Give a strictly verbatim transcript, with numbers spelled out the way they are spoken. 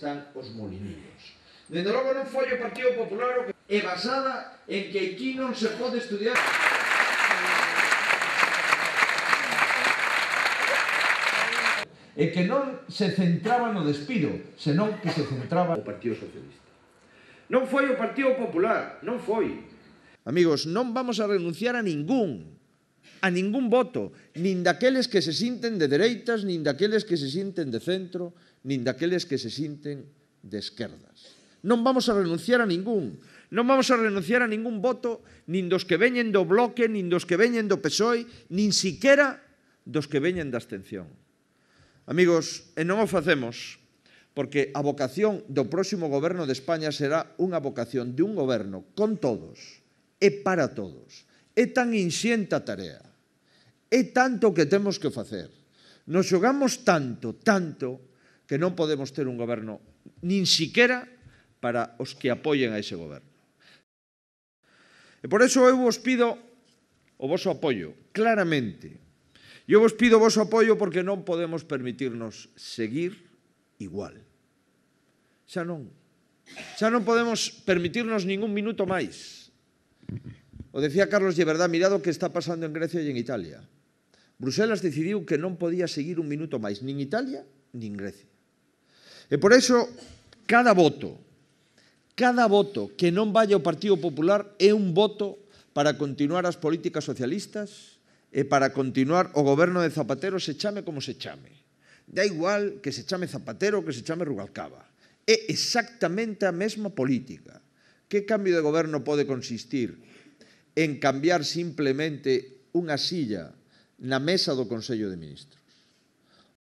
están os molinillos. Dende logo non foi o Partido Popular o que é basada en que aquí non se pode estudiar. E que non se centraba no despido, senón que se centraba no Partido Socialista. Non foi o Partido Popular, non foi. Amigos, non vamos a renunciar a ningún, a ningún voto, nin daqueles que se sinten de dereitas, nin daqueles que se sinten de centro, nin daqueles que se sinten de esquerdas. Non vamos a renunciar a ningún. Non vamos a renunciar a ningún voto, nin dos que veñen do Bloque, nin dos que veñen do P S O E, nin siquera dos que veñen da abstención. Amigos, e non o facemos porque a vocación do próximo goberno de España será unha vocación de un goberno con todos e para todos. É tan inxenta a tarea, é tanto que temos que facer. Nos xogamos tanto, tanto, que non podemos ter un goberno nin siquera para os que apoien a ese goberno. E por iso eu vos pido o voso apoio, claramente. Eu vos pido o voso apoio porque non podemos permitirnos seguir igual. Xa non. Xa non podemos permitirnos ningún minuto máis. O decía Carlos Lleberdá, mirad o que está pasando en Grecia e en Italia. Bruselas decidiu que non podía seguir un minuto máis, nin Italia, nin Grecia. E por iso, cada voto, cada voto que non vaya ao Partido Popular é un voto para continuar as políticas socialistas e para continuar o goberno de Zapatero se chame como se chame. Da igual que se chame Zapatero ou que se chame Rubalcaba. É exactamente a mesma política. Que cambio de goberno pode consistir en cambiar simplemente unha silla na mesa do Consello de Ministros?